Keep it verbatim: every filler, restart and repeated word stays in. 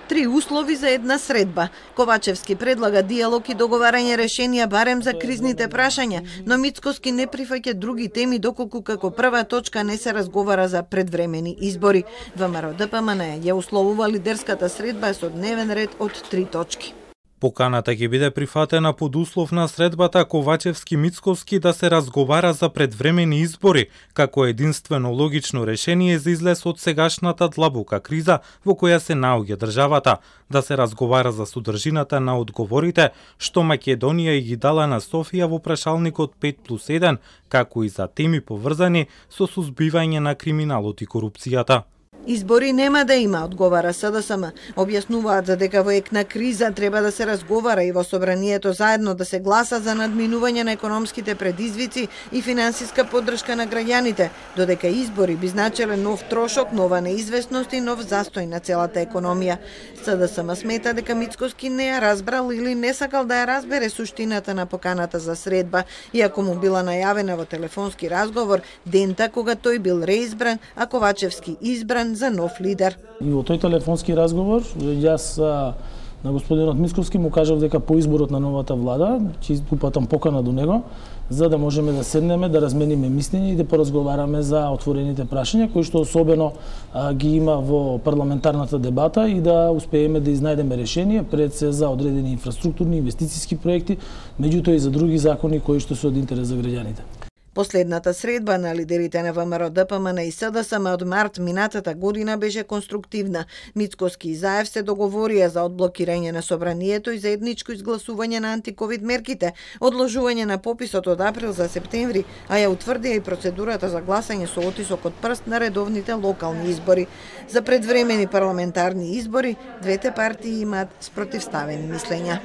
Три услови за една средба. Ковачевски предлага диалог и договарање решенија барем за кризните прашања, но Мицкоски не прифаќа други теми доколку како прва точка не се разговара за предвремени избори. ВМРО-ДПМН ја условува лидерската средба со дневен ред од три точки. Поканата ќе биде прифатена под услов на средбата Ковачевски-Мицкоски да се разговара за предвремени избори, како единствено логично решение за излез од сегашната длабока криза во која се наоѓа државата, да се разговара за содржината на одговорите што Македонија и ги дала на Софија во прашалникот пет плюс еден, како и за теми поврзани со сузбивање на криминалот и корупцијата. Избори нема да има, одговара СДСМ. Објаснуваат за дека во ек на криза треба да се разговара и во собранието заедно да се гласа за надминување на економските предизвици и финансиска поддршка на граѓаните, додека избори би значеле нов трошок, нова неизвестност и нов застој на целата економија. СДСМ смета дека Мицкоски не ја разбрал или не сакал да ја разбере суштината на поканата за средба, иако му била најавена во телефонски разговор дента кога тој бил реизбран, а Ковачевски избран за нов лидер. И во тој телефонски разговор јас на господинот Мицкоски му кажав дека по изборот на новата влада ќе упатам покана до него за да можеме да седнеме, да размениме мислење и да поразговараме за отворените прашања кои што особено а, ги има во парламентарната дебата и да успееме да изнајдеме решение пред се за одредени инфраструктурни инвестициски проекти, меѓутоа и за други закони кои што се од интерес за граѓаните. Последната средба на лидерите на ВМРО-ДПМН и СДСМ од март минатата година беше конструктивна. Мицкоски и Заев се договорија за одблокирање на собранието и заедничко изгласување на антиковид мерките, одложување на пописот од април за септември, а ја утврдија и процедурата за гласање со отисок од прст на редовните локални избори. За предвремени парламентарни избори, двете партии имаат спротивставени мислења.